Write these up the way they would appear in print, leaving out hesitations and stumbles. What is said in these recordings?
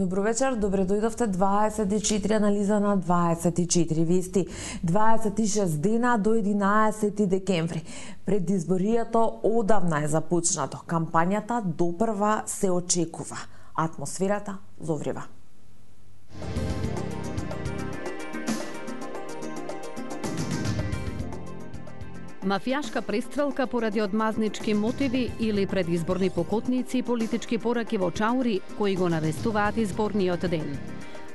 Добро вечер, добре дојдовте 24 анализа на 24 вести. 26 дена до 11 декември. Предизборието одавна е започнато. Кампањата допрва се очекува. Атмосферата зоврива. Мафијашка престрелка поради одмазнички мотиви или предизборни покотници и политички пораки во Чаури, кои го навестуваат изборниот ден.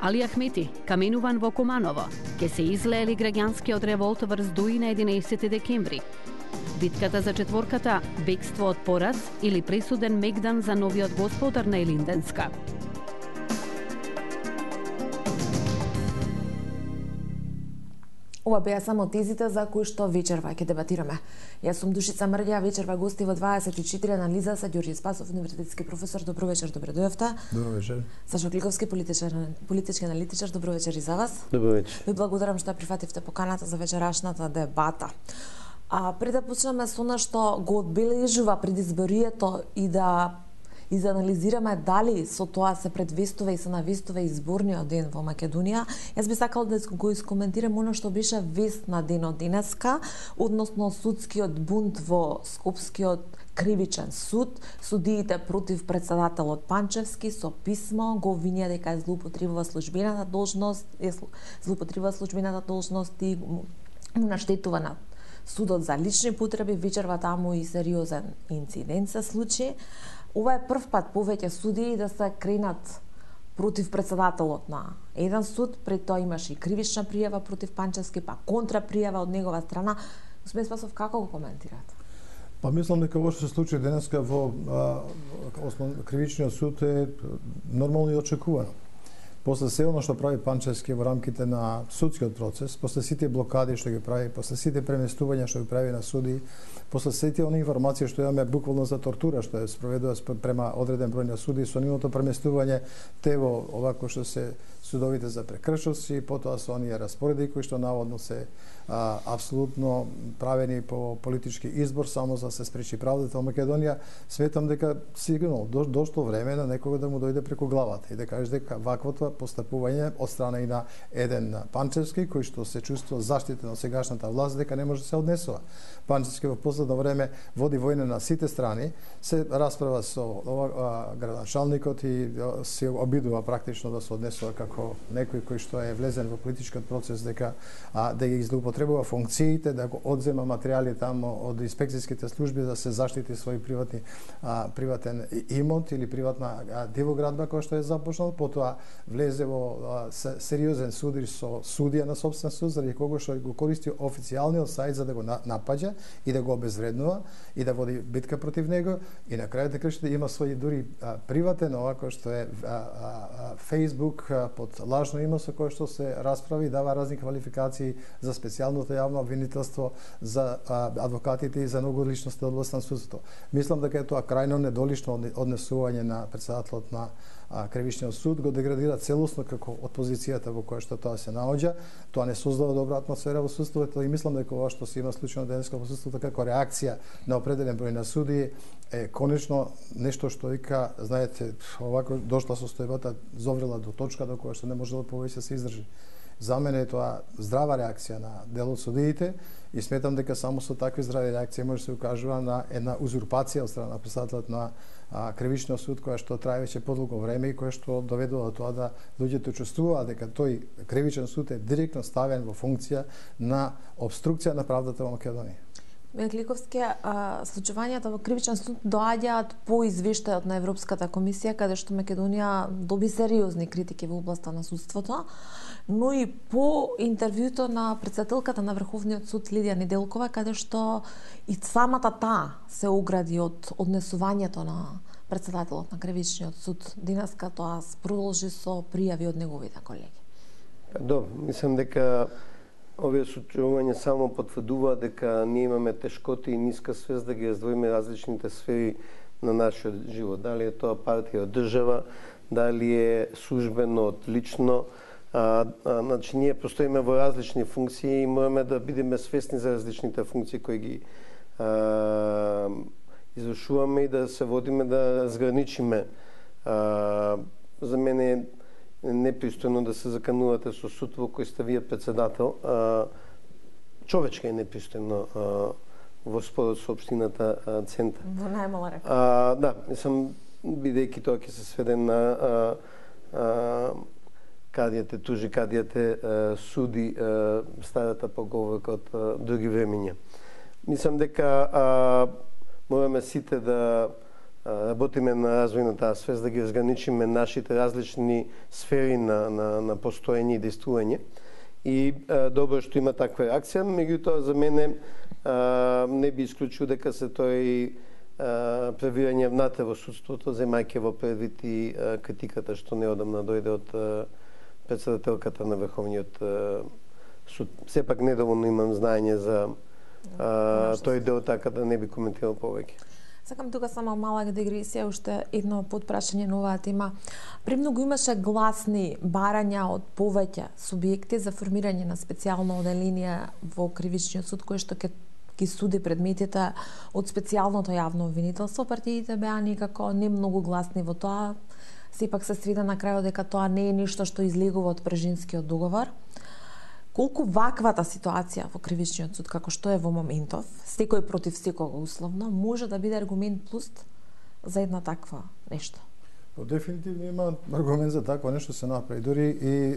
Али Ахмети, каменуван во Куманово, ке се излеели граѓанскиот револт врз Дуи на 11 декември. Битката за четворката, бегство од пораз или пресуден мегдан за новиот господар на Илинденска. Ова беа само тезите за кои што вечерва ќе дебатираме. Јас сум Душица Мрѓа, вечерва гости во 24 анализа се Ѓорѓе Спасов, универзитетски професор. Добро вечер, добре дојавте. Добро вечер. Сашо Кликовски, политички аналитичар. Добро вечер и за вас. Добро вечер. Ви благодарам што прифативте поканата за вечерашната дебата. Пред да почнеме со она што го одбележува предизборието и да изанализираме дали со тоа се предвестува и се навестува изборниот ден во Македонија, јас би сакал да го искоментирам оно што беше вест на денот денеска, односно судскиот бунт во Скопскиот кривичен суд. Судиите против председателот Панчевски со писмо го обвинија дека е злоупотребува службената должност и му наштетува на судот за лични потреби. Вечерва таму и сериозен инцидент се случи. Ова е прв пат повеќе судии да се кренат против председателот на еден суд. Пред тоа имаше и кривична пријава против Панчевски, па контрапријава од негова страна. Господин Спасов, како го коментирате? Па мислам дека ова што се случи денеска во кривичниот суд е нормално и очекувано. После се оно што прави Панчевски во рамките на судскиот процес, после сите блокади што ги прави, после сите преместувања што ги прави на суди, после сите оние информации што имаме буквално за тортура што е спроведува према одреден број на суди, со нивното преместување те во овако што се судовите за прекршоци, потоа со оние распореди кои што наводно се апсолутно правени по политички избор само за да се спречи правдата во Македонија, сметам дека сигурно дошло време на некого да му дојде преку главата и да каже дека ваквото постапување од страна и на еден Панчевски кој што се чувствува заштитен од сегашната власт дека не може да се однесува. Панчевски во последно време води војна на сите страни, се расправа со градоначалникот и се обидува практично да се однесува како некој кој што е влезен во политичкиот процес дека да ги злоупотребува функциите, да го одзема материјали тамо од инспекцијските служби да се заштити свој приватен имот или приватна дивоградба која што е започнал, потоа влезе во сериозен судир со судија на сопствен суд заради кого што го користи официјалниот сајт за да го напаѓа и да го обезвреднува и да води битка против него и на крајот на крајшите има свој дури приватен овако што е Facebook под лажно име со кое што се расправи и дава разни квалификации за специјалното јавно обвинителство за адвокатите и за многу личности од област на судството. Мислам дека е тоа крајно недолишно однесување на председателот на Кривичниот суд го деградира целосно како од позицијата во која што тоа се наоѓа. Тоа не создава добра атмосфера во судството и мислам дека ова што се има случајно денеска во судството како реакција на определен број на судии е конечно нешто што вика, знаете, овако дошла состојбата зоврела до точка до која што не може да повеќе се издржи. За мене е тоа здрава реакција на дел од судиите и сметам дека само со такви здрави реакции може да се укажува на една узурпација од страна на председателот на Кривичниот суд која што трае веќе подолго време и која што доведува до тоа да луѓето чувствуваат дека тој Кривичен суд е директно ставен во функција на обструкција на правдата во Македонија. Кликовски, случувањата во Кривичен суд доаѓаат по извештајот на Европската комисија, каде што Македонија доби сериозни критики во областа на судството, но и по интервјуто на председателката на Врховниот суд Лидија Неделкова, каде што и самата таа се огради од однесувањето на председателот на Кривичниот суд. Денеска тоа продолжи со пријави од неговите колеги. Мислам дека овие случувања само потврдуваат дека ние имаме тешкоти и ниска свест да ги раздвоиме различните сфери на нашиот живот. Дали е тоа партија од држава, дали е службено од лично. Значи, ние постоиме во различни функции и мораме да бидеме свесни за различните функции кои ги извршуваме и да се водиме да разграничиме. За мене непристојно да се заканувате со суд во кој сте вие председател. Човечки е непристојно во спорот со општината Центар. Во најмала река. Да, мислам, бидејќи тоа ќе се сведе на кадијате тужи, кадијате суди старата поговорка од други времења. Мислам дека мораме сите да работиме на развој на таа свест, да ги разграничиме нашите различни сфери на постоење и действување. И добро што има таква реакција, меѓутоа за мене не би исклучил дека се тој превирање внатре во судството, земајќи во предвид и критиката што неодамна дојде од председателката на Врховниот суд. Сепак недоволно имам знаење за тој дел, така да не би коментирал повеќе. Сакам тука само мала дигресија, уште едно подпрашање на оваа тема. Премногу имаше гласни барања од повеќе субјекти за формирање на специјална оделенија во Кривичниот суд, кој што ќе суди предметите од специјалното јавно обвинителство. Партиите беа некако не многу гласни во тоа. Сепак се свида на крајот дека тоа не е ништо што излегува од Прежинскиот договор. Колку ваквата ситуација во Кривичниот суд, како што е во моментов, секој против секого условно, може да биде аргумент плюс за една таква нешто? Дефинитивно има аргумент за такво нешто се направи. Дури и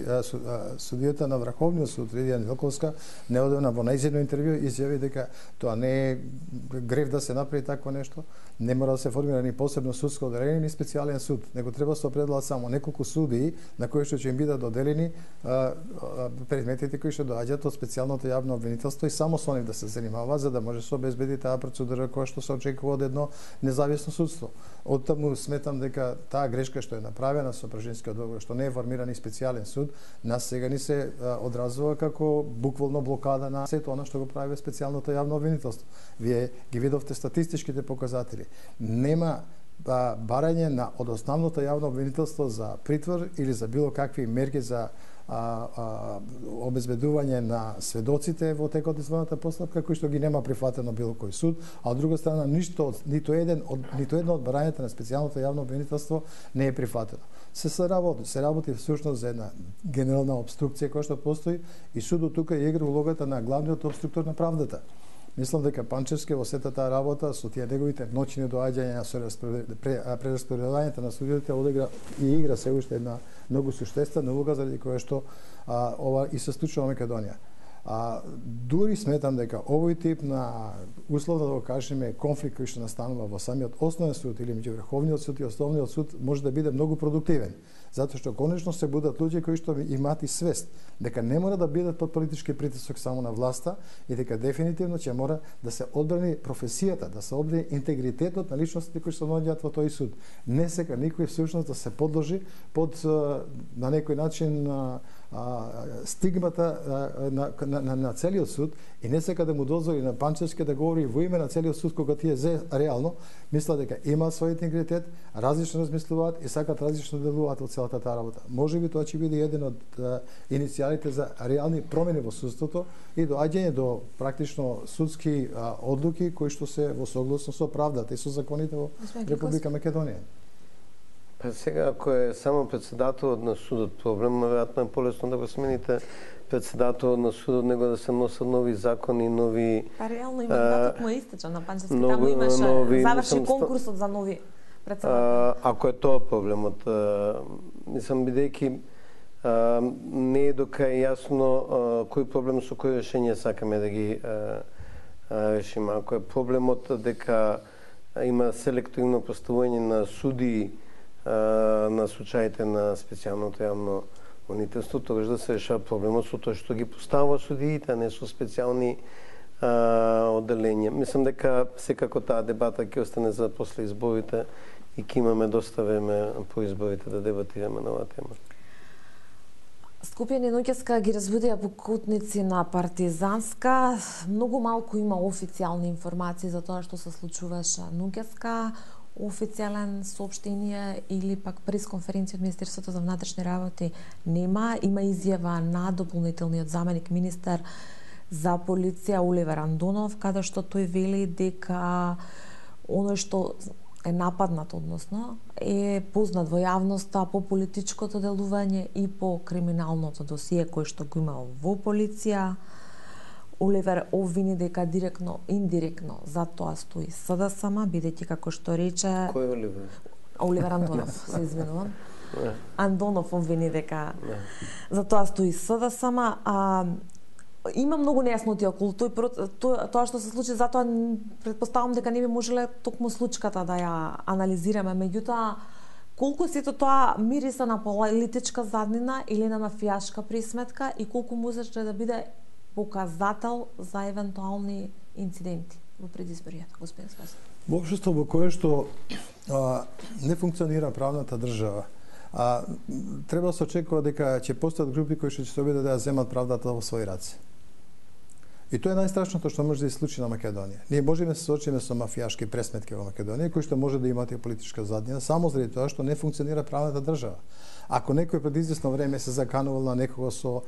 судијата на Врховниот суд Лидија Неделковска неодамна во најзедно интервју изјави дека тоа не е грев да се направи такво нешто, не мора да се формира ни посебно судско оделение ни специјален суд, него треба да се определат само неколку судии на кои што ќе им бидат доделени предметите кои што доаѓаат од специјалното јавно обвинителство и само со нив да се занимава за да може да се обезбеди таа процедура која што се очекува од едно независно судство. Оттаму сметам дека таа грешка што е направена со Прежинскиот договор, што не е формиран и специјален суд, нас сега ни се одразува како буквално блокада на сето она што го прави специјалното јавно обвинителство. Вие ги видовте статистичките показатели. Нема барање од основното јавно обвинителство за притвор или за било какви мерки за обезбедување на сведоците во текот на својата постапка, кој што ги нема прифатено било кој суд, а од друга страна нито едно од барањата на специјалното јавно обвинителство не е прифатено. Се работи всушност за една генерална обструкција која што постои и судот тука игра улогата на главниот обструктор на правдата. Мислам дека Панчевски во сета таа работа со тие неговите ноќни доаѓања со прераспределувањето на судиите одигра и игра се уште една многу суштествена улога заради која што ова и се случува во Македонија. Дури сметам дека овој тип на условно да го кажеме конфликт кој што настанува во самиот основен суд или меѓу Врховниот суд и Основниот суд може да биде многу продуктивен, затоа што конечно се будат луѓе кои што имаат и свест дека не мора да бидат под политички притисок само на власта и дека дефинитивно ќе мора да се одбрани професијата, да се одбрани интегритетот на личностите кои што наоѓаат во тој суд. Не сека никој всушност да се подложи под на некој начин стигмата на целиот суд и не сека да му дозволи на Панчевски да говори во име на целиот суд кога тие реално мислат дека имаат свој интегритет, различно размислуваат и сакат различно да делуваат во целата таа работа. Можеби тоа ќе биде еден од иницијалите за реални промени во судството и доаѓање до практично судски одлуки кои што се во согласно со правдата и со законите во Република Македонија. Сега, ако е само председателот на судот проблем, веројатно е полесно да го смените председателот на судот, него да се носат нови закони, нови... Реално и мандатот му е истечен на Панчевски, таму имаше заврши конкурсот за нови председатели. Ако е тоа проблемот, мислам, бидејќи не е до крај јасно кој проблем со кој решение сакаме да ги решиме. Ако е проблемот дека има селективно поставување на судии на случаите на специјалното јавно обвинителство, тогаш да се решава проблемот со тоа што ги поставува судиите, а не со специјални одделенија. Мислам дека секако таа дебата ќе остане за после изборите и ќе имаме доста време по изборите да дебатираме на оваа тема. Скопје ноќеска ги разбудија покутници на Партизанска. Многу малку има официјални информации за тоа што се случуваше ноќеска. Официјален соопштение или пак пресконференција од Министерството за внатрешни работи нема. Има изјава на дополнителниот заменик министер за полиција Оливер Андонов, каде што тој вели дека оној што е нападнат, односно е познат во јавноста по политичкото делување и по криминалното досие кој што го има во полиција. Оливер обвини дека директно, индиректно за тоа стои СДСМ, бидејќи како што рече... Кој е Оливер? Оливер Андонов, се извинувам. Андонов обвини дека за тоа стои СДСМ, има многу нејасноти околу тоа што се случи, затоа претпоставам дека не би можеле токму случката да ја анализираме, меѓутоа колку сето тоа мириса на политичка заднина или на мафијашка присметка и колку може да биде показател за евентуални инциденти во предизборијата, господин Спасов? Во општество во кое што не функционира правната држава, треба да се очекува дека ќе постојат групи кои што ќе се обидат да ја земат правдата во своји раце. И тоа е најстрашното што може да се случи на Македонија. Ние можеме да се соочиме со мафијашки пресметки во Македонија, кои што може да имаат и политичка заднина, само заради тоа што не функционира правната држава. Ако некој пред известно време се заканувал на некого со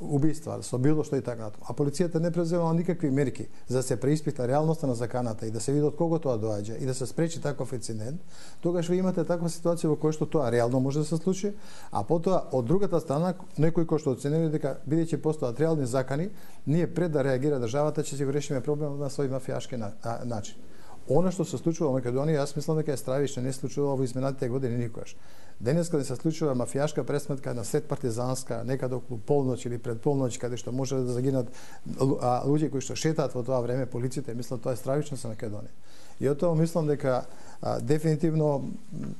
убиства, со било што и така натаму, а полицијата не преземала никакви мерки за да се преиспита реалноста на заканата и да се види од кого тоа доаѓа и да се спречи таков инцидент, тогаш ви имате таква ситуација во која што тоа реално може да се случи, а потоа од другата страна некој кој што оценили дека бидејќи постојат реални закани, ние пред да реагира државата ќе си го решиме проблемот на свој мафијашки начин. Она што се случува во Македонија, јас мислам дека е стравишно, не се случува во изминатите години никогаш. Денес кога се случува мафијашка пресметка на сред партизанска, некаде околу полноќ или пред полноќ, каде што може да загинат луѓе кои што шетаат во тоа време, полицијата мислат тоа е стравишно за Македонија. И од тоа мислам дека дефинитивно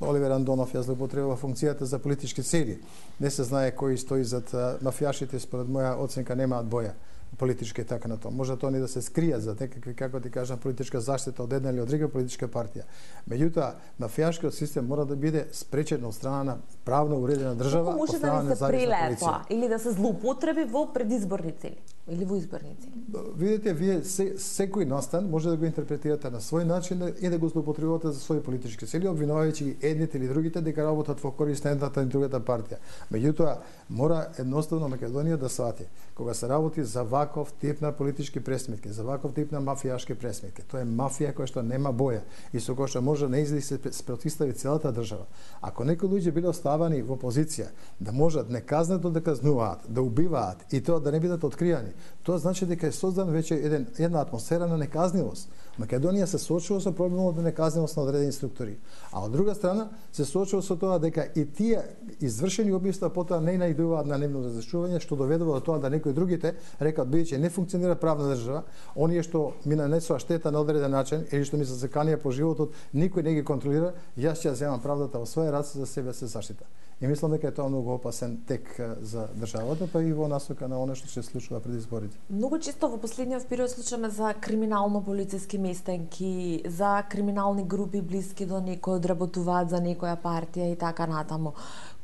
Оливер Андонов ја злоупотребува функцијата за политички цели. Не се знае кој стои зад мафијашите, според моја оценка немаат боја политичка и така на тоа. Може тоа не да се скријат за некакви, како ти кажам, политичка заштита од една или од друга политичка партија. Меѓутоа, мафијашкиот систем мора да биде спречен од страна на правно уредена држава, од страна на независна полиција. Или да се злоупотреби во предизборни цели или во изборни цели. Видите, вие секој настан може да го интерпретирате на свој начин и да го злоупотребувате за своји политички цели, обвинувајќи едните или другите дека работат во корист на едната или другата партија. Меѓутоа, мора едноставно Македонија да свати, кога се работи за ваков тип на политички пресметки, за ваков тип на мафијашки пресметки. Тоа е мафија која што нема боја и со која што може да се протистави целата држава. Ако некои луѓе биле оставани во позиција да можат неказнето да казнуваат, да убиваат и тоа да не бидат откријани, тоа значи дека е создан веќе една атмосфера на неказнивост. Македонија се соочува со проблемот на неказнивост на одредени структури, а од друга страна се соочува со тоа дека и тие извршени убиства потоа не најдуваат на нивно разрешување, што доведува до тоа да некои другите рекат бидејќи не функционира правна држава, оние што ми нанесува штета на одреден начин или што ми се заканија по животот, никој не ги контролира, јас ќе ја земам правдата во своја раце за себе се заштита. И мислам дека е тоа многу опасен тек за државата, па и во насока на она што се случува пред изборите. Многу често во последниот период слушаме за криминално-полициски местенки, за криминални групи блиски до некој, одработуваат за некоја партија и така натаму.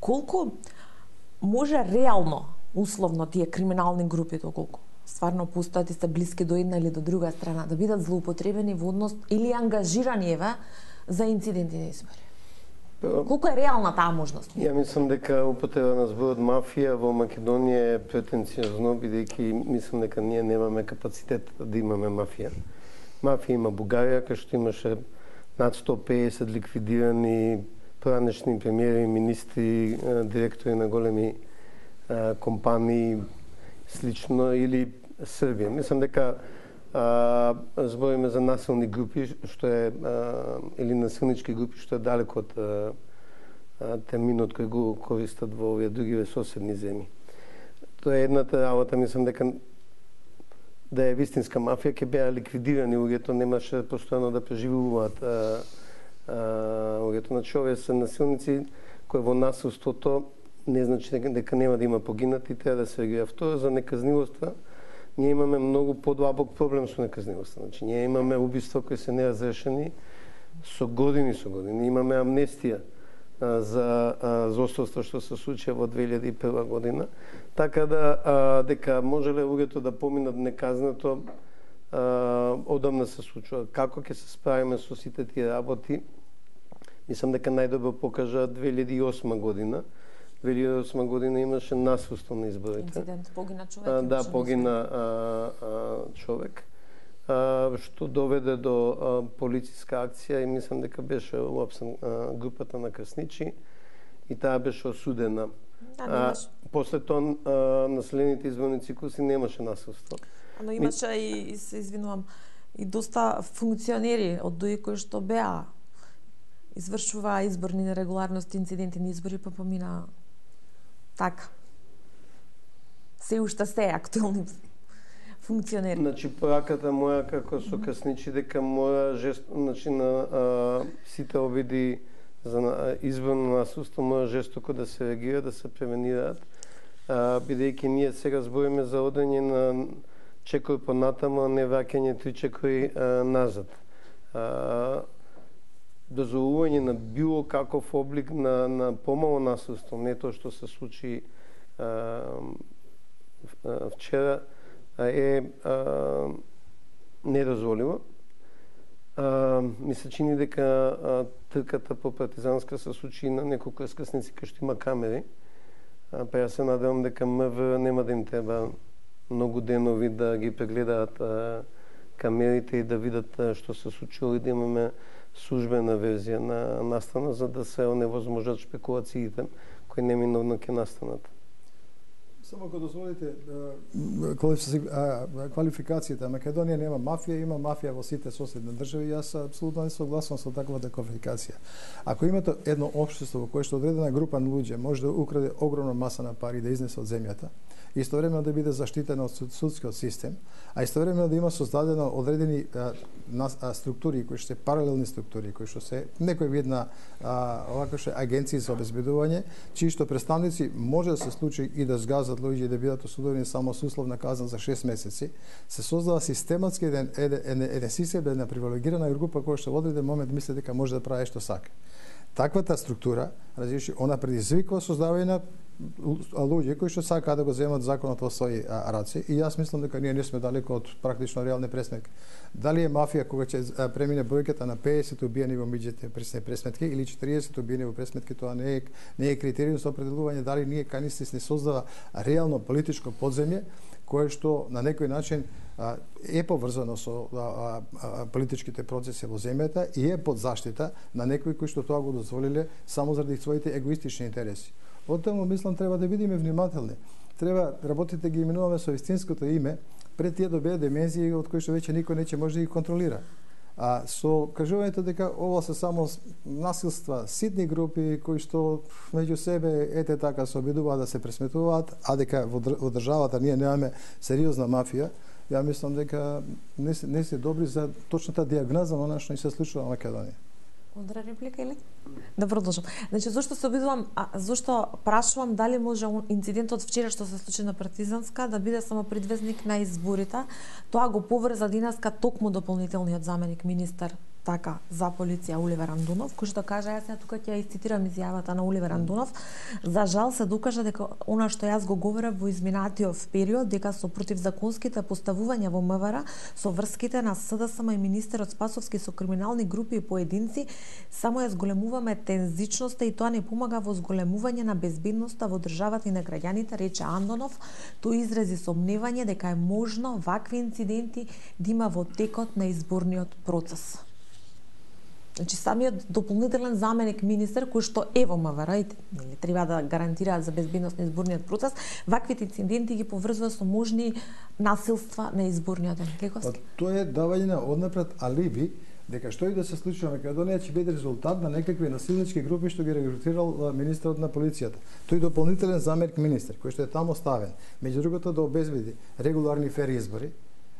Колку може реално, условно, тие криминални групи, доколку стварно постојат и се блиски до една или до друга страна, да бидат злоупотребени во однос или ангажирани еве за инциденти на избори? Колку е реална таа можност? Ја мислам дека употреба на зборот мафија во Македонија е претенциозно, бидејќи мислам дека ние немаме капацитет да имаме мафија. Мафија има Бугарија, кај што имаше над 150 ликвидирани поранешни премиери, министри, директори на големи компании, слично, или Србија. Мислам дека збориме за насилни групи, што е или насилнички групи, што е далеко од терминот кој го користат во овие други соседни земји. Тоа е едната работа, мислам дека да е вистинска мафија ќе беа ликвидирани луѓето, немаше постојано да преживуваат луѓето. Значи, овие се насилници кои во насилството не значи дека нема да има погинати, треба да се реагира. Второ, за неказнивоста, ние имаме многу подлабок проблем со неказнивоста. Значи, ние имаме убиства кои се неразрешени со години. Имаме амнестија за злосторства што се случија во 2001 година. Така да дека можеле луѓето да поминат неказнето, одамна се случува. Како ќе се справиме со сите тие работи? Мислам дека најдобро покажа 2008 година. 2008 година имаше насилство на изборите. Инцидент, погина човек. Да, погина човек. што доведе до полициска акција и мислам дека беше уапсен групата на крсничи и таа беше осудена. После тоа наследните изборни циклуси немаше насилство. Но имаше и се извинувам и доста функционери од ДУИ кои што беа извршуваа изборни нерегуларности, инциденти на избори, па помина така. Се уште се актуелни функционери. Значи, пораката моја како со крсничи дека мора значи на сите обиди за изборно насилство мора жестоко да се реагира, да се превенираат, бидејќи ние сега збориме за одење на чекор понатаму, а не враќање 3 чекори назад. Дозволување на било каков облик на помало насилство, не тоа што се случи вчера, е недозволиво. Ми се чини дека трката по партизанска се случи на неколку раскрсници кај што има камери. Па јас се надевам дека МВР нема да им треба многу денови да ги прегледаат камерите и да видат што се случило и да имаме службена верзија на настана за да се оневозможат шпекулациите кои неминовно ќе настанат. Само ако дозволите, квалификацијата Македонија нема мафија, има мафија во сите соседни држави, јас апсолутно не согласувам со таквата квалификација. Ако имате едно општество во кое што одредена група на луѓе може да украде огромна маса на пари да изнесе од земјата, истовремено да биде заштитена од судскиот систем, а истовремено да има создадено одредени структури кои што се паралелни структури, кои што се некој вид на овако што агенции за обезбедување, чии што представници може да се случи и да згазат луѓе и да бидат осудени само со условна казна за 6 месеци, се создава систематски еден систем, една привилегирана група која што во одреден момент мисли дека може да прави што сака. Таквата структура, разреши, она предизвикува создавање на луѓе кои што сакаат да го земат законот во своји раце и јас мислам дека ние не сме далеко од практично реални пресметки. Дали е мафија кога ќе премине бројката на 50 убиени во миѓите пресметки или 40 убиени во пресметки, тоа не е критериум за определување дали ние канистис не создава реално политичко подземје кое што на некој начин е поврзано со политичките процеси во земјата и е под заштита на некои кои што тоа го дозволиле само заради своите егоистични интереси. Потоа мислам треба да бидеме внимателни. Треба работите ги именуваме со вистинското име пред тие добијат демензии од кои што веќе никој не ќе може да ги контролира. А со кажувањето дека ова се само насилства, ситни групи кои што меѓу себе ете така се обидуваат да се пресметуваат, а дека во државата ние немаме сериозна мафија, ја мислам дека не се добри за точната дијагноза на она што ни се случува во Македонија. Удра реплика или? Да продолжам. Значи, зошто се обидувам, зошто прашувам дали може инцидентот вчера што се случи на Партизанска да биде само предвезник на изборите, тоа го поврза денеска токму дополнителниот заменик министер така за полиција Оливер Андунов, кој што кажа, јас тука ќе ја цитирам изјавата на Оливер Андунов, за жал се докажа дека она што јас го говорев во изминатиот период, дека со противзаконските поставувања во МВР, со врските на СДСМ и министерот Спасовски со криминални групи и поединци, само ја зголемуваме тензичноста и тоа не помага во зголемување на безбедноста во државата и на граѓаните, рече Андонов. Тој изрази сомневање дека е можно вакви инциденти да има во текот на изборниот процес. Значи, самиот дополнителен заменик министер, кој што е во МВР и треба да гарантираат за безбедност на изборниот процес, ваквите инциденти ги поврзува со можни насилства на изборниот ден. Лековски? Тоа е давање на однапред алиби дека што и да се случи во Македонија ќе биде резултат на некакви насилнички групи што ги регрутирал министерот на полицијата. Тој дополнителен заменик министер кој што е таму ставен, меѓу другото да обезбеди регуларни фер избори,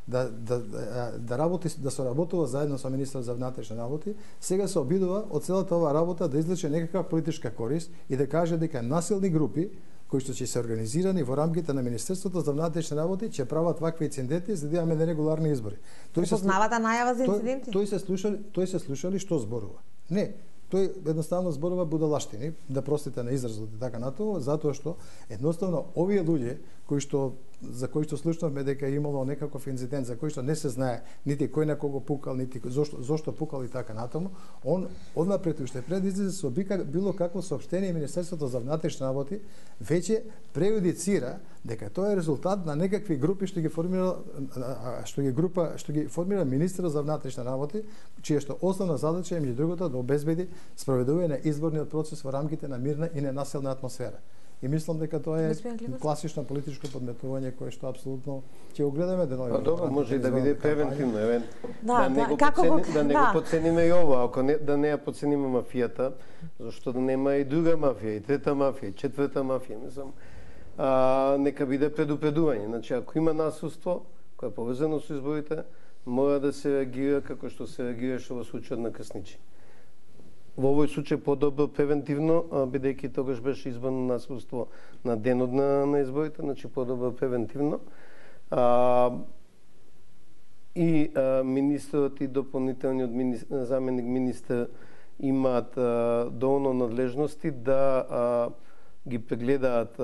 да работи, да се работува заедно со министерот за внатрешни работи, сега се обидува од целата оваа работа да извлече некаква политичка корист и да каже дека насилни групи кои што ќе се организирани во рамките на Министерството за внатрешни работи ќе прават вакви инциденти за да имаме нерегуларни избори. Тој се познавата најава за инциденти? Тој се слушали што зборува. Не, тој едноставно зборува будалаштини, да простите на изразот и така натаму, затоа што едноставно овие луѓе за кој што слушнавме дека е имало некаков инцидент за кој што не се знае нити кој на кого пукал, нити зошто пукал и така натаму, он однапред уште пред излезе со било какво соопштение Министерството за внатрешни работи веќе преюдицира дека тоа е резултат на некакви групи што ги формира министерот за внатрешни работи, чија што основна задача е меѓу другото да обезбеди спроведување на изборниот процес во рамките на мирна и ненаселна атмосфера. И мислам дека тоа е класично политичко подметнување кое што апсолутно ќе го гледаме денови. Добро, може и да биде превентивно, да не го подцениме и ова, ако да не ја подцениме мафијата, зашто да нема и друга мафија, и трета мафија, и четврта мафија, мислам. Нека биде предупредување. Значи, ако има насилство кое е поврзано со изборите, мора да се реагира како што се реагираше во случајот на Крсничи. Во овој случај подобро превентивно, бидејќи тогаш беше изборно насилство на денот на изборите, значи подобро превентивно. И министерот и дополнителниот заменик министер имаат доволно надлежности да ги прегледаат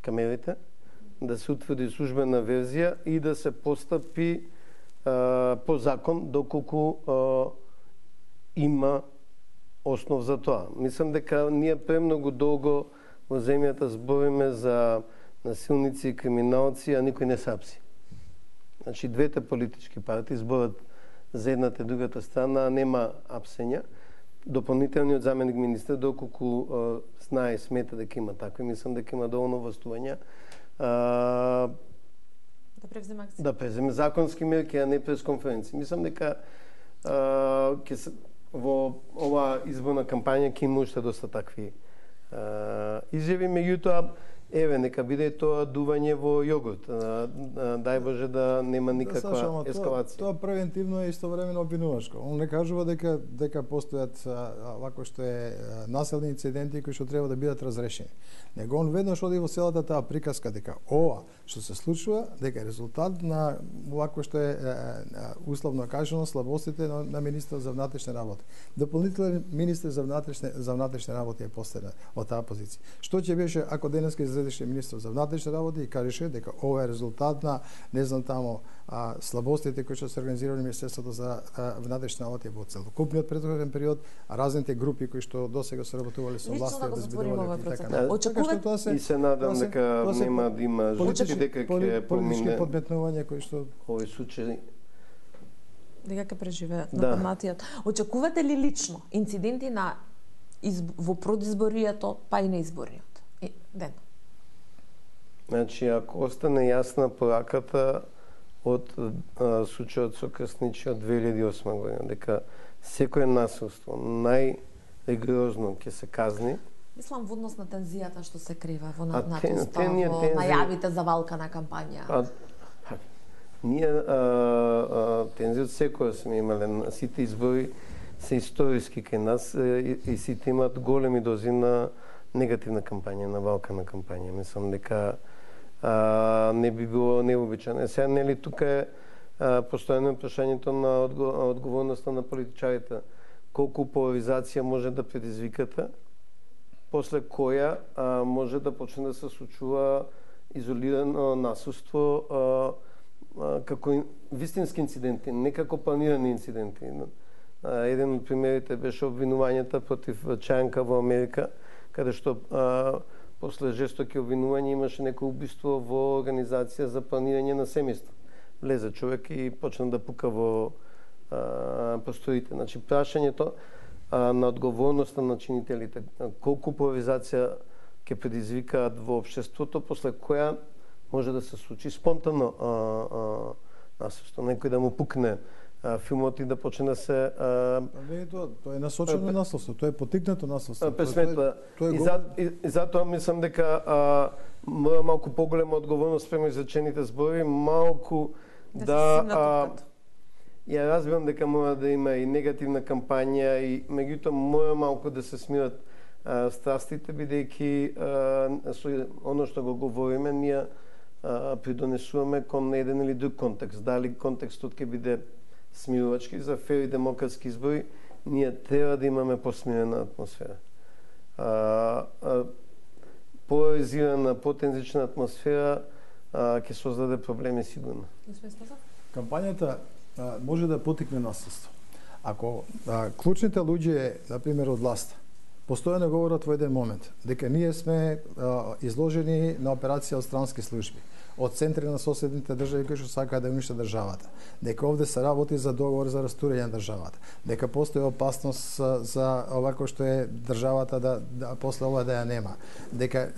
камерите, да се утврди службена верзија и да се постапи по закон доколку има основ за тоа. Мислам дека ние премногу долго во земјата збориме за насилници и криминалци, а никој не се апси. Значи, двете политички партии зборат за едната и другата страна, а нема апсења. Дополнителниот заменик министер, доколку знае и смета дека има такви, мислам дека има доволно властувања да преземе законски мерки, а не пресконференци. Мислам дека во оваа изборна кампања ќе има уште доста такви изјави, меѓутоа нека биде тоа дување во јогурт. Дај Боже да нема никаква ескалација. Тоа превентивно е истовремено обвинувачко. Он не кажува дека постојат вако што е населни инциденти кои што треба да бидат разрешени. Него он веднаш оди во целата таа приказка дека ова што се случува дека е резултат на вако што е условно кажано слабостите на министерот за внатрешни работи. Дополнителен министер за внатрешни работи е поставен од таа позиција. Што ќе беше ако денеска излезеше министер за внатрешни работи и кажеше дека ова е резултат на не знам таму слабостите кои што се организирани Министерството за внатрешни работи во целокупниот претходен период, а разните групи кои што досега се работувале со власта да зборувале и така. И се надам дека нема да има жртви, дека ќе политички подметнувања кои што овој случај дека ќе преживеат на паматиот. Очекувате ли лично инциденти во предизборието, па и на изборниот ден? Значи, ако остане јасна пораката од случајот со Крсничи од 2008 година, дека секој насилство најригорозно ќе се казни. Мислам во однос на тензијата што се крива во натуста, во најавите за валкана кампања. Ние тензијот секој сме имале, сите избори се историски кај нас и сите имаат големи дози на негативна кампања, на валкана кампања. Мислам дека не би било необичаено. Сега, нели, тука е постојано прашањето на одговорноста на политичарите. Колку поларизација може да предизвикате, после која може да почне да се случува изолирано насилство како вистински инциденти, не како планирани инциденти. Еден од примерите беше обвинувањата против Чајанка во Америка, каде што после жестоки обвинувања имаше некој убиство во организација за планирање на семејство. Влезе човек и почна да пука во просториите. Значи, прашањето на одговорноста на чинителите, колку поларизација ќе предизвикаат во општеството, после која може да се случи спонтано насилство. Некој да му пукне филмот и да почне да се... Тоа е насочено насилство, тоа е потикнато насилство. И затоа мислам дека мора малку поголема одговорност спрема изречените зборови, малку да... Ја разбирам дека мора да има и негативна кампања, и меѓутоа мора малку да се смират страстите, бидејќи оно што го говориме, ние придонесуваме кон еден или друг контекст. Дали контекстот ќе биде смирувачки за фер и демократски избори, ние треба да имаме посмирена атмосфера. поларизирана, потензична атмосфера ќе создаде проблеми сигурно. Кампањата може да потикне насилство. Ако клучните луѓе, например, од власта, постојано говорат во еден момент дека ние сме изложени на операција од странски служби, од центри на соседните држави кои што сакаат да уништат државата, дека овде се работи за договор за растурање на државата, дека постои опасност за овако што е државата да после ова да ја нема, дека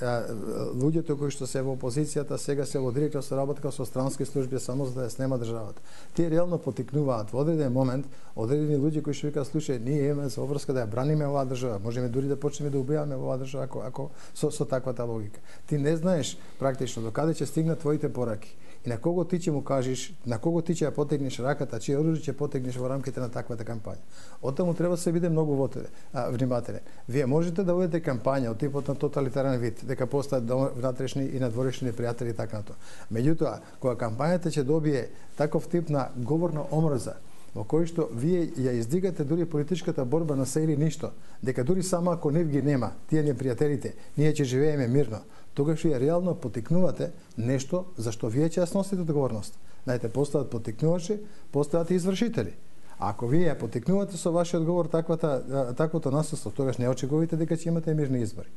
луѓето кои што се во опозицијата сега се во директно соработка со странски служби само за да ја снема државата. Тие реално потикнуваат во одреден момент одредени луѓе кои што викаат слушај, ние имаме за обврска да ја браниме оваа држава, можеме дури да почнеме да убиваме оваа држава ако со таквата логика. Ти не знаеш практично докаде ќе стигнат твоите пораки и на кого ти ќе му кажеш, на кого ти ќе ја потегнеш раката, чие оружје ќе потегнеш во рамките на таквата кампања. Оттаму треба да се биде многу внимателен. Вие можете да водите кампања од типот на тоталитарен вид, дека постаат внатрешни и надворешни непријатели и така натоа. Меѓутоа, кога кампањата ќе добие таков тип на говорна омрза, во кој што вие ја издигате дури политичката борба на се или ништо, дека дури само ако нив ги нема, тие непријателите, ние ќе живееме мирно, тогаш вие реално потикнувате нешто за што вие ќе ја сносите одговорност. Знаете, постојат потикнувачи, постојат и извршители. А ако вие ја потикнувате со вашиот говор таквото насилство, тогаш не очекувате дека ќе имате мирни избори.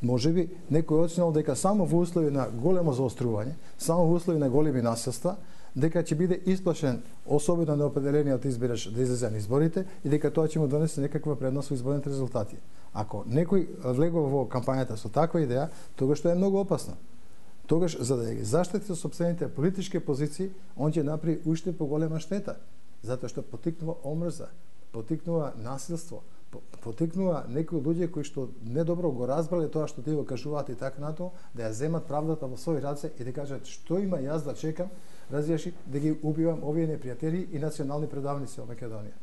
Можеби некој оценил дека само во услови на големо заострување, само во услови на големи насилства, дека ќе биде исплашен особено неопределениот избирач да излезе на изборите и дека тоа ќе му донесе некаква предност во изборните резултати. Ако некој влегува во кампањата со таква идеја, тогаш тоа е многу опасно. Тогаш, за да ги заштити сопствените политички позиции, он ќе направи уште поголема штета, затоа што потикнува омрза, потикнува насилство, потикнува некои луѓе кои што недобро го разбрале тоа што тие го кажуваат и така натоа, да ја земат правдата во своји раце и да кажат што има јас да чекам, разјаши да ги убивам овие непријатели и национални предавници во Македонија.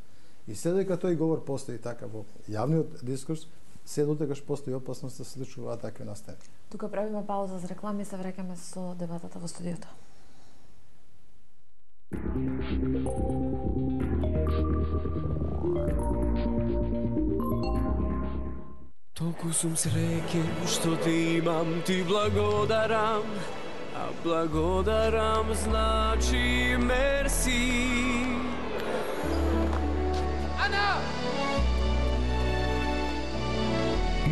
И се дека тој говор постои така во јавниот дискурс, се дотегаш постои опасност да се случуваат такви настани. Тука правиме пауза за реклами и се враќаме со дебатата во студиото. Толку сум среќен што те имам, ти благодарам, а благодарам значи мерси.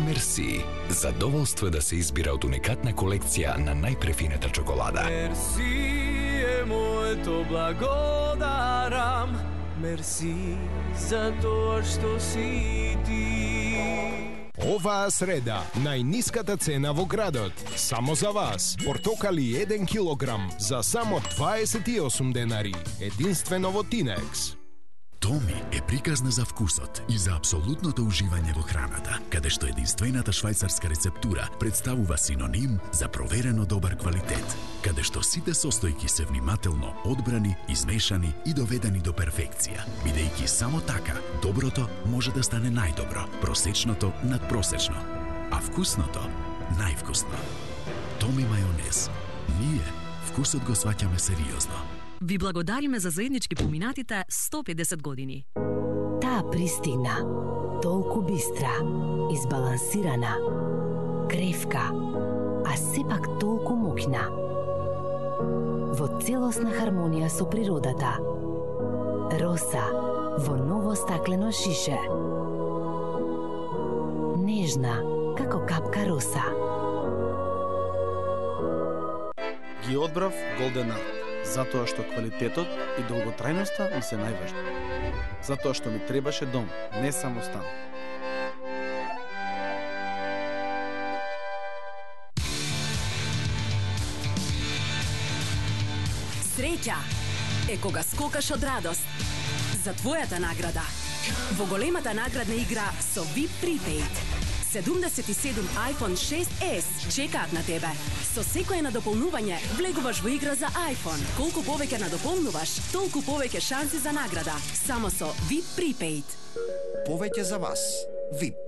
Мерси. Задоволство е да се избира од уникатна колекција на најпрефината чоколада. Мерси е моето благодарам. Мерси за тоа што си ти. Оваа среда, најниската цена во градот. Само за вас. Портокали 1 килограм за само 28 денари. Единствено во Тинекс. Томи е приказна за вкусот и за апсолутното уживање во храната, каде што единствената швајцарска рецептура представува синоним за проверено добар квалитет, каде што сите состојки се внимателно одбрани, измешани и доведени до перфекција, бидејќи само така доброто може да стане најдобро, просечното надпросечно, а вкусното највкусно. Томи мајонез. Ние вкусот го сваќаме сериозно. Ви благодариме за заеднички поминатите 150 години. Таа пристигна, толку бистра, избалансирана, кревка, а сепак толку моќна. Во целосна хармонија со природата. Роса во ново стаклено шише. Нежна како капка роса. Ги одбрав Голден Арт, затоа што квалитетот и долготрајноста ми се најважни. Затоа што ми требаше дом, не само стан. Среќа е кога скокаш од радост за твојата награда. Во големата наградна игра со VIP Prepaid. 77 iPhone 6s чекаат на тебе. Со секое надополнување влегуваш во игра за iPhone. Колку повеќе надополнуваш, толку повеќе шанси за награда. Само со VIP Prepaid. Повеќе за вас. VIP.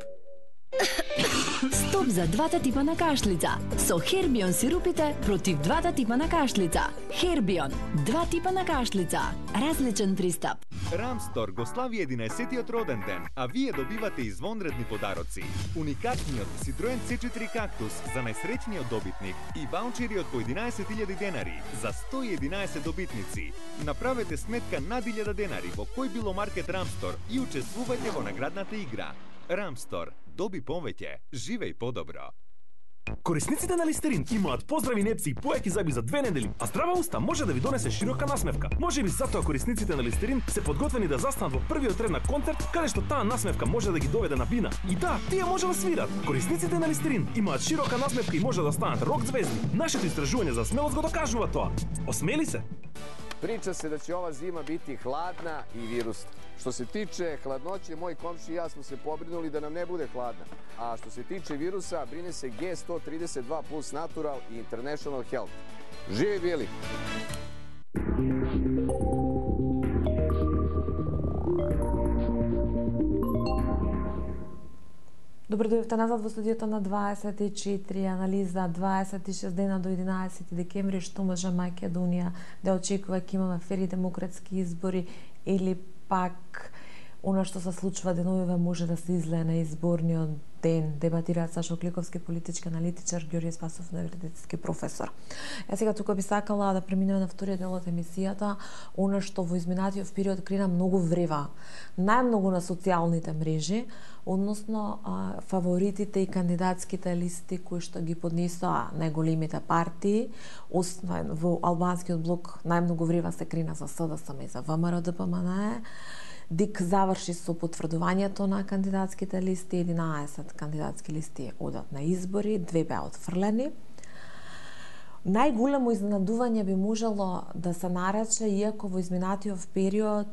Стоп за двата типа на кашлица. Со Хербион сирупите против двата типа на кашлица. Хербион, два типа на кашлица. Различен пристап. Рамстор го слави 11-тиот роден ден, а вие добивате извонредни подароци. Уникатниот Citroen C4 Cactus за најсреќниот добитник и ваучери од по 11.000 денари за 111 добитници. Направете сметка над 1000 денари во кој било маркет Рамстор и учествувајте во наградната игра. Рамстор. Доби повеќе, живеј подобро. Корисниците на Листерин имаат поздрави непси и појаки зъби за 2 недели, а здрава уста може да ви донесе широка насмевка. Можеби затоа корисниците на Листерин се подготвени да застанат во првиот ред на концерт, каде што таа насмевка може да ги доведе на бина. И да, тие може да свират. Корисниците на Листерин имаат широка насмевка и може да станат рок звезди. Нашето истражување за смелост го докажува тоа. Осмели се! Priča se da će ova zima biti hladna i virusna. Što se tiče hladnoće, moji komši i ja smo se pobrinuli da nam ne bude hladna. A što se tiče virusa, brine se G132 Plus Natural i International Health. Živi bili! Добро дојдовте назад во студиото на 24, анализа 26 дена до 11 декември, што може Македонија да очекува, ќе имаме фери демократски избори или пак она што се случува деновиве може да се излее на изборниот ден, дебатираат Сашо Кликовски, политички аналитичар, Ѓорѓе Спасов, универзитетски професор. Сега тука би сакала да преминеме на вториот дел од емисијата, она што во изминатиот период крена многу врева, најмногу на социјалните мрежи, односно фаворитите и кандидатските листи кои што ги поднесоа најголемите партии, во албанскиот блок најмногу врева се крена за СДСМ и за ВМРО-ДПМНЕ. ДИК заврши со потврдувањето на кандидатските листи, 11 кандидатски листи одат на избори, 2 беа отфрлени. Најголемо изненадување би можело да се нарече, иако во изминатиот период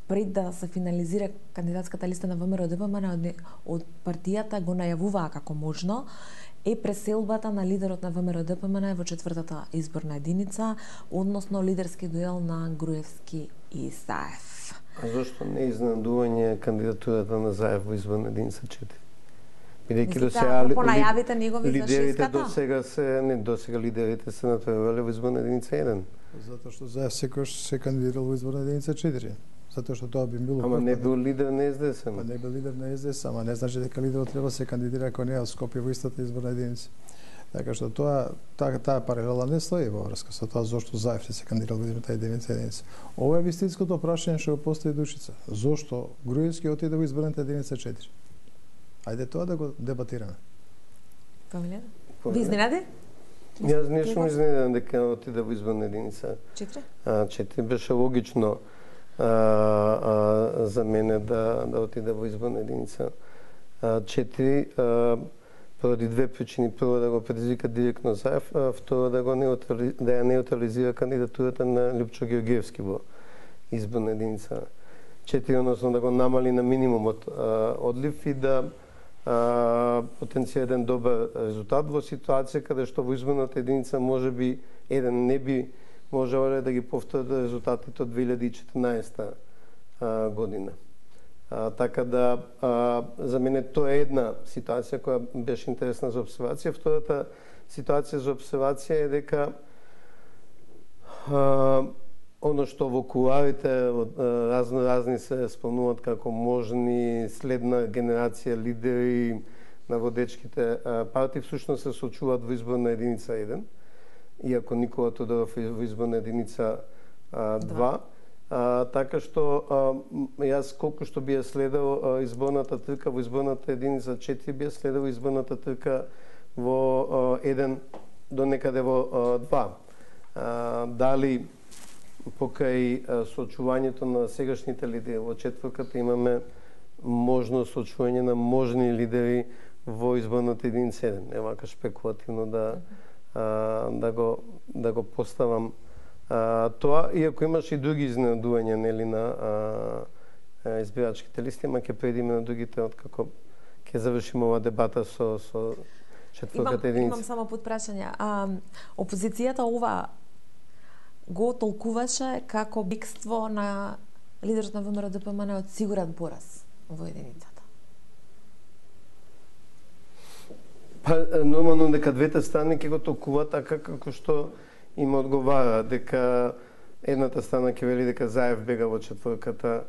пред да се финализира кандидатската листа на ВМРО-ДПМНЕ од партијата го најавуваа како можно, е преселбата на лидерот на ВМРО-ДПМНЕ во 4-та изборна единица, односно лидерски дуел на Груевски и Заев. А зошто не изненадување кандидатурата на Заев во изборна единица 4? Бидејќи до сега понајавите негови лидерите до сега лидерите се натпревале во изборна единица 1. Затоа што Заев секогаш се кандидирал во изборна единица 4. Затоа што тоа би било. Ама не бил лидер на СДС. Па не бил лидер на СДС, ама не значи дека лидерот треба да се кандидира ако не е од Скопје во истата изборна единица. Така што таа паралела не стои во врска со тоа зошто Заев се кандидирал во изборната единица. Ова е вистинското прашање што го постави Душица. Зошто Груевски отиде во изборната единица 4? Ајде тоа да го дебатираме. Памилен? Ви изненади? Јас не сум изненаден дека отиде во изборна единица 4? 4 беше логично за мене да отиде во изборна единица 4 поради две причини. Прво да го предизвика директно Заев, а второ да ја неутрализира кандидатурата на Лјупчо Ѓорѓевски во изборна единица 4, односно да го намали на минимумот одлив и да потенцира еден добар резултат во ситуација каде што во изборната единица можеби еден не би можеле да ги повторат резултатите од 2014 година. Така да, за мене тоа е една ситуација која беше интересна за обсервација. Втората ситуација за обсервација е дека оно што во кулуарите разни се спомнуваат како можни следна генерација лидери на водечките партии, всушност се сочуваат во изборна единица 1, иако Никола Тодоров е во изборна единица 2. Така што јас колку што би ја следел изборната трка во изборната единица 4, би ја следел изборната трка во 1 до некаде во 2. Дали покрај сочувањето на сегашните лидери во четврката имаме можност сочување на можни лидери во изборната единица 1. Не вака шпекулативно да го поставам тоа, иако имаше и други изненадувања нели на избирачките листи, ама ќе предиме на другите откако ќе завршиме ова дебата со четврката единица. Имам само подпрашање. Опозицијата ова го толкуваше како бегство на лидерот на ВМРО-ДПМНЕ од сигурен пораз во единицата. Па нормално дека двете страни ќе го толкуваат така како што им одговара, дека едната страна ќе вели дека Заев бега во четврката,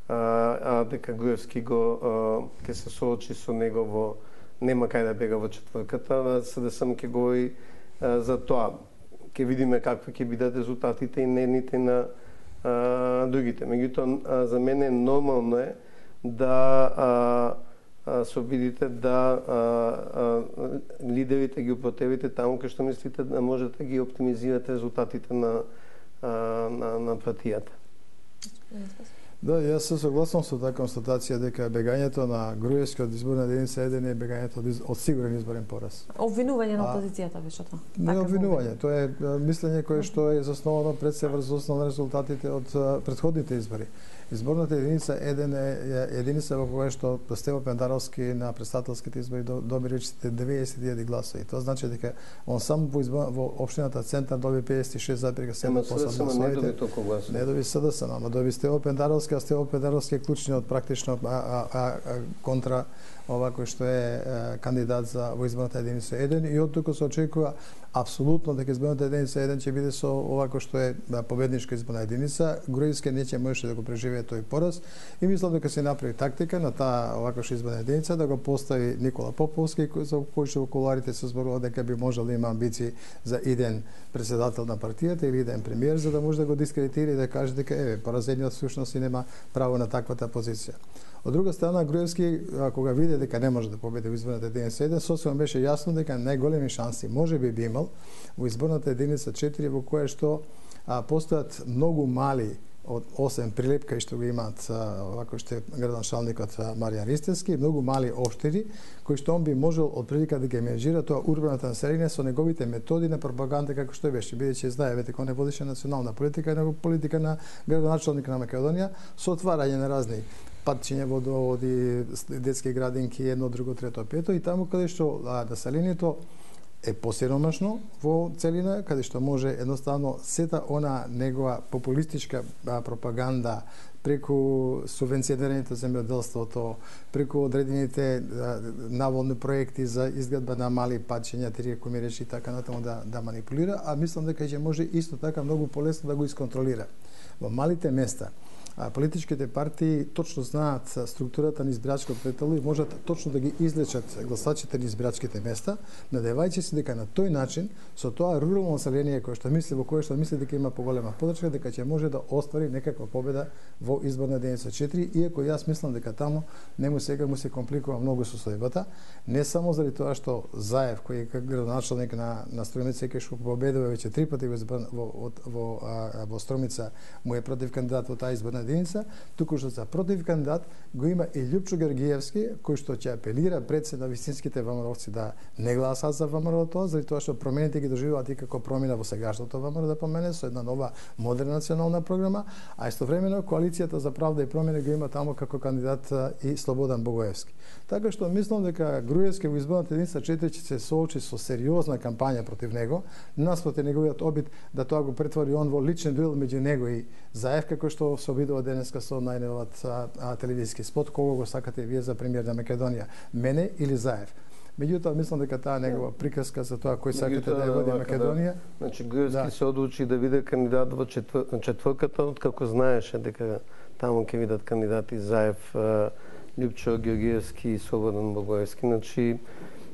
а дека Груевски ќе се соочи со него во нема кај да бега во четврката, СДСМ ќе говори за тоа. Ќе видиме какви ќе бидат резултатите и нивните на другите. Меѓутоа, за мене нормално е да се обидите да лидерите ги употребите таму кај што мислите да можете да ги оптимизирате резултатите на партијата. Да, јас се согласувам со таа констатација дека бегањето на Груевски од изборна единица 1 е бегањето од сигурен изборен пораз. Обвинување на опозицијата беше тоа. Не обвинување, тоа е мислење кое што е засновано пред се врз основа на резултатите од претходните избори. Изборната единица 1 е единица во која што Стево Пендаровски на претставителските избори доби речите 90.000 гласови. Тоа значи дека он само во општината Центар доби 56,7% гласови. Не доби СДСМ, ама доби Стево Пендаровски, а Стево Пендаровски е клучниот практично контра ова кој што е кандидат за во изборната единица 1 и од тука се очекува апсолутно дека изборната единица 1 ќе биде со ова кој што е победничка изборна единица. Груевски не ќе можеше да го преживее тој пораз и мислам дека се направи тактика на таа овако што изборна единица да го постави Никола Поповски за кој што во кулуарите се зборува дека би можел да има амбиции за иден председател на партијата или иден премиер за да може да го дискредитира и да каже дека поразениот всушност и нема право на таквата позиција. Од друга страна, Груевски, кога виде дека не може да победи во изборната единица 1, сосема беше јасно дека најголеми шанси може би имал во изборната единица 4, во која што постојат многу мали од 8 прилепка што го имаат овако што е градоначалникот Маријан Ристевски, многу мали општини кои што он би можел од прилика да ги менеджира тоа урбаното население со неговите методи на пропаганда како што беше, бидејќи знаеме дека он не водеше национална политика, него политика на градоначалник на Македонија со отварање на разни патчиња, водоводи, детски градинки, едно, друго, трето, пето и таму каде што населението е посиромашно во целина, каде што може едноставно сета она негова популистичка пропаганда преку субвенционираните земјоделството, преку одредените наволни проекти за изградба на мали патчиња, теријако речи и така натаму да манипулира, а мислам дека ќе може исто така многу полесно да го исконтролира. Во малите места политичките партии точно знаат структурата на избирачкото тело и можат точно да ги излечат гласачите на избирачките места, надевајќи се дека на тој начин, со тоа рурално население во кое што мисли дека има поголема поддршка, дека ќе може да оствари некаква победа во изборна единица 4, иако јас мислам дека таму сега му се компликува многу состојбата, не само заради тоа што Заев, кој е градоначалник на Струмица, кој што победува веќе 3 пати во Струмица, му е против кандидат во таа изборна единица, туку што за против кандидат го има и Љупчо Георгиевски, кој што ќе апелира пред се на вистинските ВМРО-вци да не гласат за ВМРО тоа, заради тоа што промените ги доживуваат и како промена во сегашното ВМРО да помене со една нова модерна национална програма, а истовремено коалицијата за правда и промена го има таму како кандидат и Слободан Богоевски. Така што мислам дека Груевски во изборната единица 4 ќе се соочи со сериозна кампања против него, наспроти неговиот обид да тоа го претвори он во личен дуел меѓу него и Заев, како што се обидува денеска со најновиот телевизиски спот, кого го сакате вие за премиер на Македонија, мене или Заев. Меѓутоа, мислам дека таа негова приказка за тоа кој сакате да ја води Македонија. Значи, Груевски се одлучи да биде кандидат во четврката, откако знаеше дека таму ќе видат кандидати Заев, Љупчо Георгиевски и Слободан Богоевски. Значи,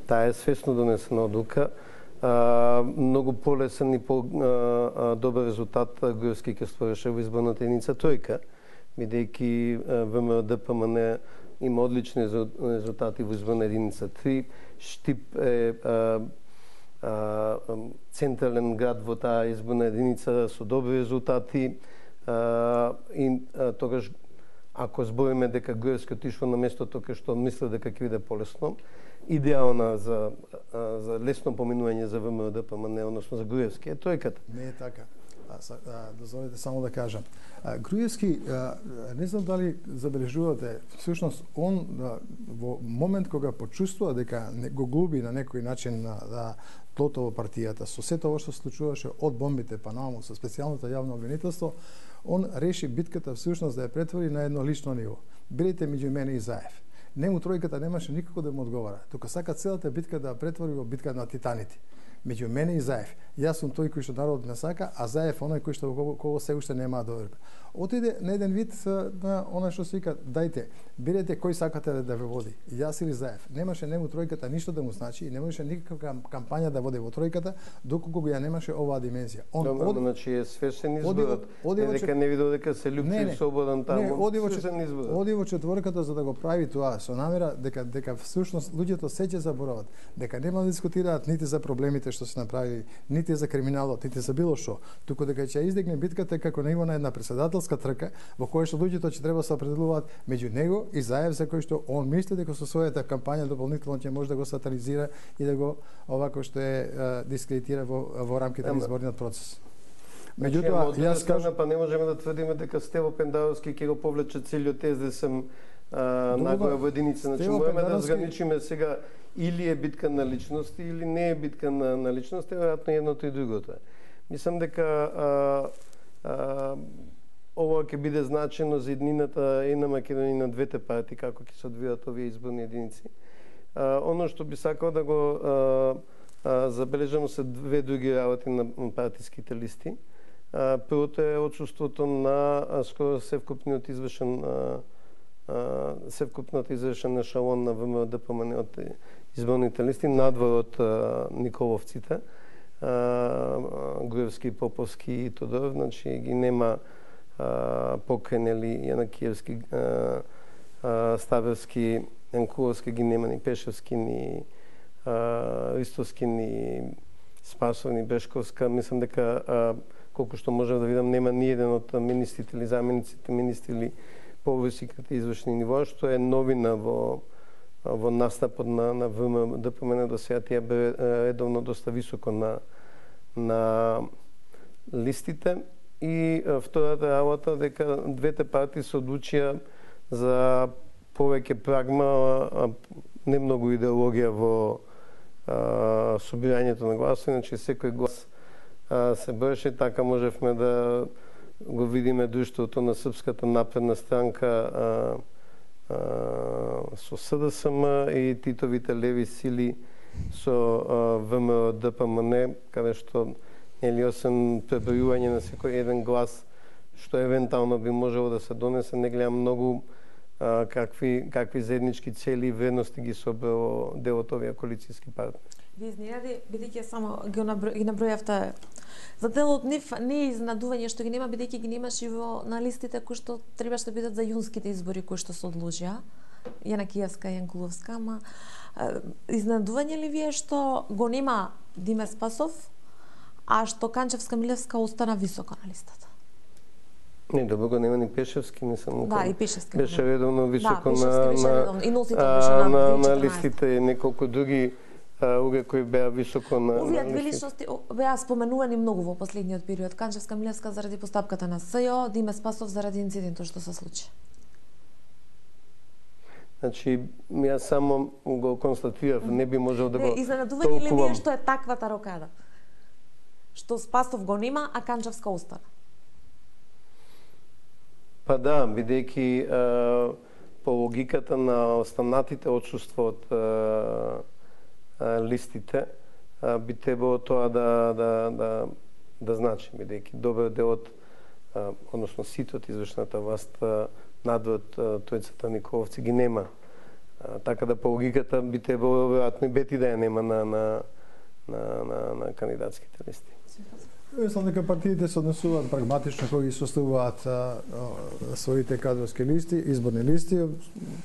таа е свесно донесена одлука. Многу полесен и добар резултат Груевски ќе ствареше во изборната единица тројка, бидејќи ВМРО-ДПМН има одлични резултати во изборна единица 3. Штип е централен град во таа изборна единица со добри резултати и тогаш ако збориме дека Груевски отишол на местото кај што мисле дека ќе биде полесно, идеална за лесно поминување за ВМРО-ДПМН, односно за Груевски е тројката. Не е така. Дозволете само да кажам. Груевски, не знам дали забележувате, всушност он во момент кога почувствува дека го губи на некој начин на тлото во партијата, со сето ова што случуваше од бомбите па нааму, со специјалното јавно обвинителство, он реши битката всушност да ја претвори на едно лично ниво. Бидете меѓу мене и Заев. Нему тројката немаше никако да му одговара. Тука сака целата битка да претвори во битка на титаните. Меѓу мене и Заев. Јас сум тој кој што народот не сака, а Заев оној кој што кого се уште нема доверба. Отиде на еден вид на она што се вика, дајте, бирете кој сакате да ве води, јас или Заев. Немаше нему тројката ништо да му значи и немаше никаква кампања да води во тројката доколку ја немаше оваа димензија. Значи е свесен изборот. Дека не видел дека се љупчи слободен таму. Оди во четворката за да го прави тоа со намера дека всушност луѓето се ќе заборават, дека нема да дискутираат нити за проблемите што се направи, нити за криминалот, нити за било што, туку дека ќе издигне битката како на ниво на една председателска трка во која што луѓето ќе треба да се определуваат меѓу него и Заев, за кој што он мисли дека со својата кампања дополнително ќе може да го сатанизира и да го овако што е дискредитира во рамките на изборниот процес. Меѓутоа, јас кажам, па не можеме да тврдиме дека Стево Пендаровски ќе го повлече целиот СДСМ нагло во единица. Значи можеме да разграничиме сега или е битка на личности или не е битка на личности, веројатно едното и другото. Мислам дека ова ќе биде значено за еднината и на Македонија и на двете партии, како ќе се одвијат овие изборни единици. Оно што би сакал да го забележам се две други работи на партиските листи. Првото е отсуството на скоро севкупниот извршен ешалон на ВМРО-ДПМН од изборните листи надвор од Николовците, Груевски, Поповски и Тодоров, значи ги нема Покренели, Јанакиевски, Ставевски, Јанкуловски, ги нема ни Пешевски, ни Ристовски, ни Спасов, ни Бешковска. Мислам дека колку што можам да видам нема ни еден од министрите или замениците министри или повисоките извршни нивоа, што е новина во настапот на ВМРО-ДПМН до сега. Тие бе редовно доста високо на листите. И втората работа дека двете партии се одлучија за повеќе прагма, не многу идеологија во собирањето на гласови, значи секој глас се броеше, така можевме да го видиме друштвото на Српската напредна странка со СДСМ и Титовите леви сили со ВМРО-ДПМН, каде што освен пребројување на секој еден глас, што евентуално би можело да се донесе, не гледам многу какви заеднички цели и вредности ги собрало дел од овие коалицијски партии. Ви изненади, бидејќи само ги набројавте, за дел од нив не е изненадување што ги нема, бидејќи ги немаше на листите кои што требаше да бидат за јунските избори кои што се одлучија, Јанакиевска и Јанкуловска, ама изненадување ли вие што го нема Диме Спасов, а што Канчевска Милевска остана високо на листата? Не, добро го нема ни Пешевски, не сам. Да, и Пешевски. Беше редовно високо на листите, неколку други кои беа високо на овие две личности беа споменувани многу во последниот период. Канчевска Милевска заради постапката на СЈО, Диме Спасов заради инцидентот што се случи. Значи, јас само го констатирав, не би можел да го толкувам. Изненадување ли ви е што е таквата рокада? Што Спасов го нема, а Канчевска остана? Па да, бидејќи по логиката на останатите отсуство од листите, би требало тоа да значи, бидејќи добар дел од, односно сите од извршната власт надвор тројцата Николовци ги нема. Така да по логиката би требало веројатно и Бети да ја нема на кандидатските листи. Мислам дека партиите се однесуваат прагматично кога ги составуваат своите кадровски листи, изборни листи.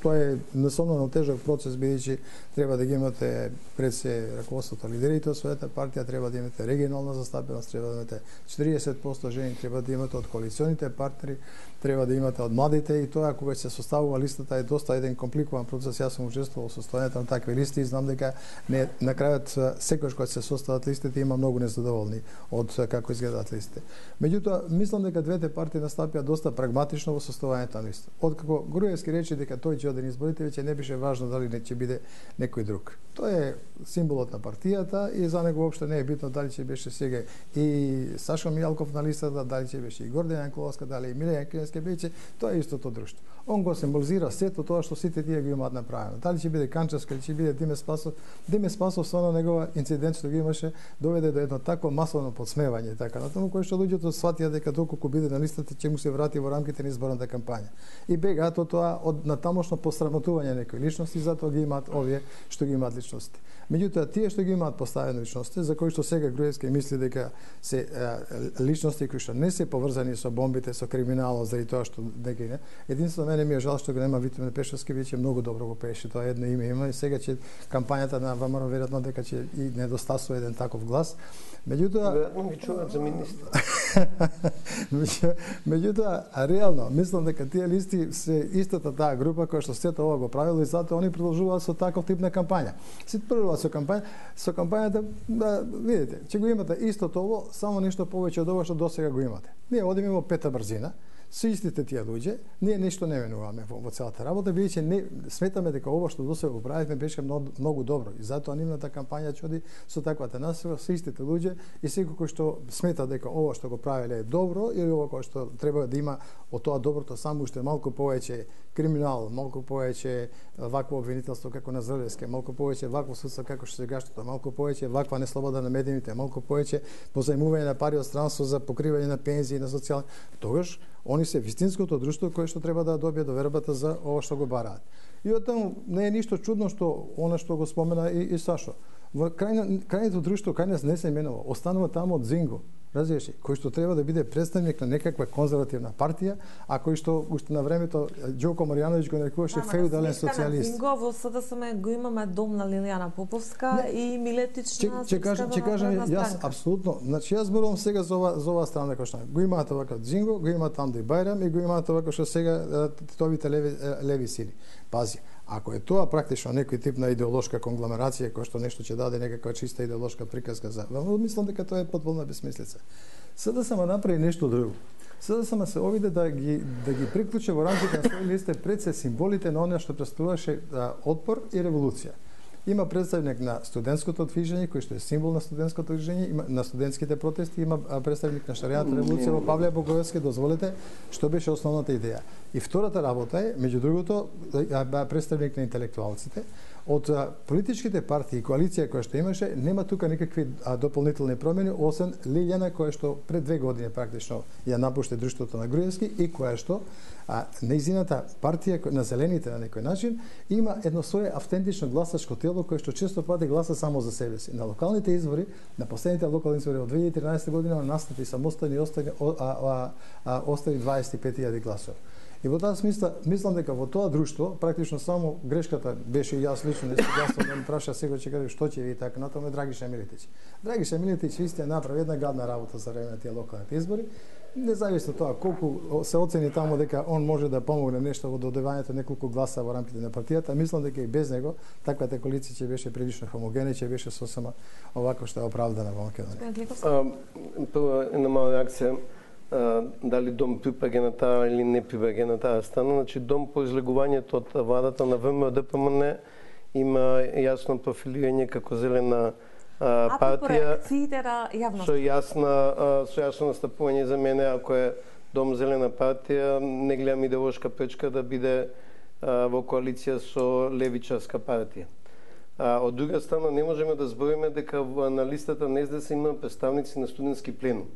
Тоа е несомнено тежок процес, бидејќи треба да ги имате пред се раководството, лидерите од својата партија, треба да имате регионална застапеност, треба да имате 40% жени, треба да имате од коалиционите партнери, треба да имате од младите, и тоа кога се составува листата е доста еден компликуван процес. Јас сум учествувал во составувањето на такви листи и знам дека на крајот секојаш кога се состават листите има многу незадоволни од како изгледаат листите. Меѓутоа, мислам дека двете партии настапија доста прагматично во составувањето на листа. Откако Груевски рече дека тој ќе оде на изборите, веќе не беше важно дали не ќе биде некој друг. Тоа е символот на партијата и за него воопшто не е битно дали ќе беше сега и Сашо Мијалков на листата, дали ќе беше и Гордана Јанкуловска, дали и Миле Јанкиевска, Гроевски биće, тоа е истото друштво. Он го символизира сето тоа што сите тие ги имаат направено. Дали ќе биде Канчевска или ќе биде Диме Спасов со на негова инцидент што ги имаше доведе до едно такво масовно подсмевање така на тоа кој што луѓето сватија дека доколку биде на листата ќе му се врати во рамките на изборната кампања. И бегаат од тоа од натамошно посрамотување некои личности, затоа ги имаат овие што ги имаат личности. Меѓутоа тие што ги имаат поставени личности, за кои што сега Груевски мисли дека се личности кои што не се поврзани со бомбите, со криминалот, заради тоа што дека не. Единствено мене ми е жал што го нема Витомен Пешевски, веќе многу добро го пееше, тоа едно име има и сега ќе кампањата на ВМРО веројатно дека ќе и недостасува еден таков глас. Меѓутоа веројатно ги чуваат за министр. Меѓутоа реално мислам дека тие листи се истата таа група која што сето ова го правила и затоа они продолжуваат со таков тип на кампања. Се продолжуваат со кампањата, да видите, ќе го имате истото ово, само нешто повеќе од ова што досега го имате. Ние одиме во пета брзина, со истите тие луѓе, ние нешто не менуваме во целата работа, бидејќи не сметаме дека ова што досега го правивме беше многу добро и затоа нивната кампања ќе оди со таквата насока со истите луѓе и секој кој што смета дека ова што го правеле е добро или ова кој што треба да има од тоа доброто само уште малку повеќе криминал, малку повеќе вакво обвинителство како на Зрелевски, малку повеќе вакво судство како што сегашното, малку повеќе ваква неслобода на медиумите, малку повеќе позајмување на пари од странство за покривање на пензии, на социјални, тогаш они се вистинското друштво кое што треба да добие довербата за ова што го бараат. И од таму не е ништо чудно што она што го спомена и Сашо. Во крајното друштво кај нас не се менува, останува таму од Зинго. Разбираш, кој што треба да биде представник на некаква конзервативна партија, а кој што уште на времето Ѓоко Марјановиќ го нарекуваше феудален социјалист. Зинго во СДСМ го имаме дом на Лилијана Поповска и Милетична. Ќе кажам јас апсолутно, значи јас зборувам сега за ова страна кој што го имаат овака Зинго, го имаат Анди Бајрам и го имаат овака што сега титовите леви сили. Пази, ако е тоа практично некој тип на идеолошка конгломерација кој што нешто ќе даде некаква чиста идеолошка приказка за, мислам дека тоа е потполна безсмислица. СДСМ направи нешто друго. СДСМ се обиде да ги приклучи во рамките на свој листе пред се символите на она што представуваше отпор и револуција. Има представник на студентското движење кој што е символ на студентското движење, на студентските протести, има представник на шаријатната револуција во Павле Боговски, дозволете, што беше основната идеја. И втората работа е, меѓу другото, представник на интелектуалците. Од политичките партии и коалиција која што имаше, нема тука никакви дополнителни промени, освен Лилјана која што пред 2 години практично ја напушти друштвото на Груевски и која што нејзината партија на зелените на некој начин има едно свое автентично гласачко тело кое што често пати гласа само за себе си. На локалните избори, на последните локални избори од 2013 година настапи самостојно и остави 25.000 гласови. И во таа смисла, мислам дека во тоа друштво, практично само грешката беше и јас лично, да ме праша сега ќе кажа што ќе ви така натаму Драгиша Милетич. Драгиша Милетич вистина направи една гадна работа за време на тие локалните избори. Независно тоа колку се оцени таму дека он може да помогне нешто во додевањето неколку гласа во рамките на партијата, мислам дека и без него таквата коалиција ќе беше прилично хомогена, ќе беше сосема овако што е оправдана во Македонија. Тоа е една мала реакција. Дали дом припаѓа на таа или не припаѓа на таа страна, значи дом по излегувањето од владата на ВМРО-ДПМН има јасно профилирање како зелена партија со јасно настапување за мене, ако е дом зелена партија, не гледам идеолошка пречка да биде во коалиција со левичарска партија. Од друга страна не можеме да збориме дека на листата на СДС има представници на студентски пленум.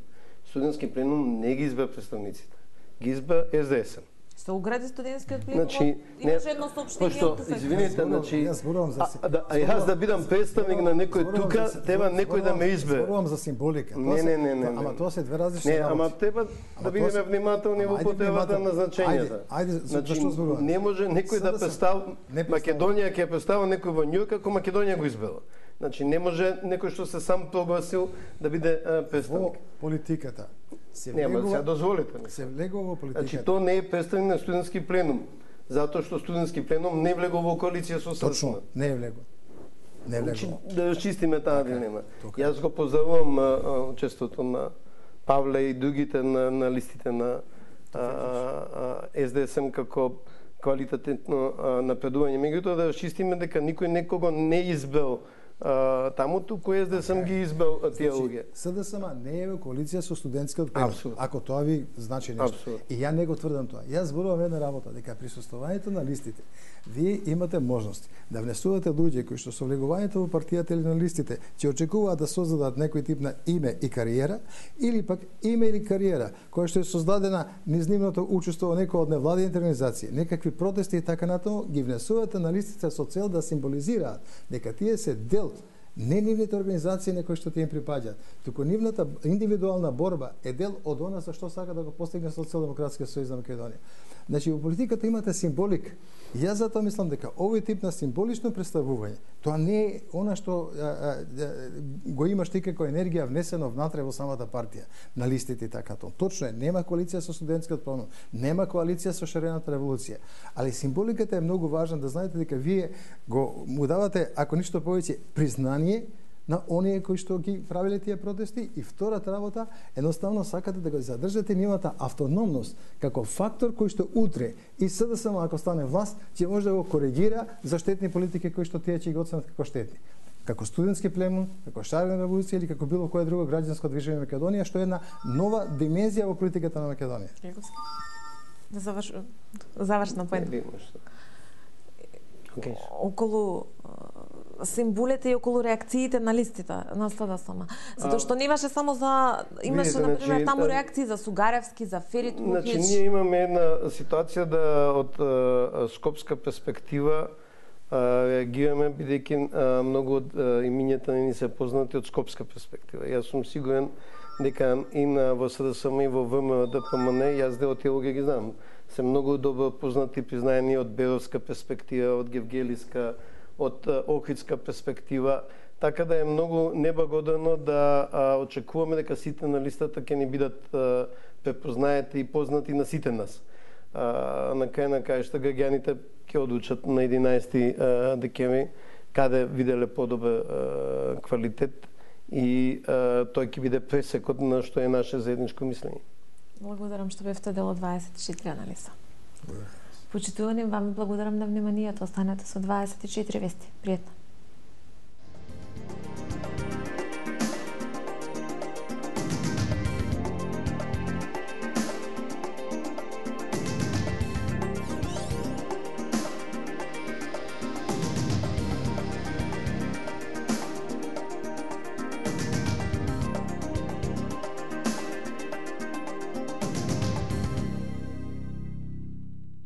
Студентски пленум не ги избра представниците, ги избра СДС. Се угради студентскиот пленум, имаше едно соопштение од ТФК. Извинете, јас да бидам представник на некој тука, треба некој да ме избере. Зборувам за символика. Не. Ама тоа се две различни работи. Ама треба да бидеме внимателни во потребата на значењата. Зашто зборувам? Не може некој да представи Македонија ќе представи некој во Њујорк ако Македонија го избера. Значи не може некој што се сам прогласил да биде представник. Во политиката се дозволите. Се влегува во политиката. Значи тоа не е представник на студентски пленум, затоа што студентски пленум не влегува во коалиција со СДСМ. Точно, не е влегува. Не е влегува. Да расчистиме таа дилема. Јас го поздравувам учеството на Павле и другите на листите на СДСМ како квалитетно напредување. Меѓутоа да расчистиме дека никој некого не избрал таму кој СДСМ ги избрал тие луѓе. СДСМ не е во коалиција со студентскиот пленум, ако тоа ви значи нешто. И ја не го тврдам тоа. Јас зборувам една работа, дека присуствувањето на листите, вие имате можност да внесувате луѓе кои што со влегувањето во партијата или на листите ќе очекуваат да создадат некој тип на име и кариера, или пак име или кариера која што е создадена низ нивното учество во некоја од невладините организации, некакви протести и така натаму, ги внесувате на листите со цел да символизираат дека тие се дел не нивните организации на кои што тие им припаѓаат, туку нивната индивидуална борба е дел од она за што сака да го постигне Социјалдемократскиот сојуз на Македонија. Значи, во политиката имате символика. Јас затоа мислам дека овој тип на символично представување, тоа не е она што го имаш ти како енергија внесено внатре во самата партија, на листите и така тоа. Точно е, нема коалиција со студентскиот пленум, нема коалиција со шарената револуција, али символиката е многу важна да знаете дека вие му давате, ако ништо повеќе, признание на оние кои што ги правиле тие протести, и втората работа, едноставно сакате да го задржате нивната автономност како фактор кој што утре и СДСМ ако стане власт, ќе може да го коригира за штетни политики кои што тие ќе ги оценат како штетни. Како студентски пленум, како шарена револуција или како било кое друго граѓанско движење во Македонија, што е една нова димензија во политиката на Македонија. Да завршна поента. Околу символите и околу реакциите на листите на СДСМ. Затоа што не имаше само за имаше на пример таму реакции за Сугаревски, за Ферит Кухич. Значи ние имаме една ситуација да од скопска перспектива реагираме бидејќи многу од имињата ни се познати од скопска перспектива. Јас сум сигурен дека и во СДСМ и во ВМРО ДПМН јас дел од тие луѓе ги знам. Се многу добро познати признаени од Беровска перспектива, од Гевгелиска, од Охридска перспектива, така да е многу неблагодарно да очекуваме дека сите на листата ќе ни бидат препознаети и познати на сите нас. На крај на краишта граѓаните ќе одлучат на 11 декември каде виделе подобар квалитет и тој ќе биде пресекот на што е наше заедничко мислење. Благодарам што бевте дел од 24 анализа. Почитувани, вам благодарам на вниманието. Останете со 24 вести. Пријатно.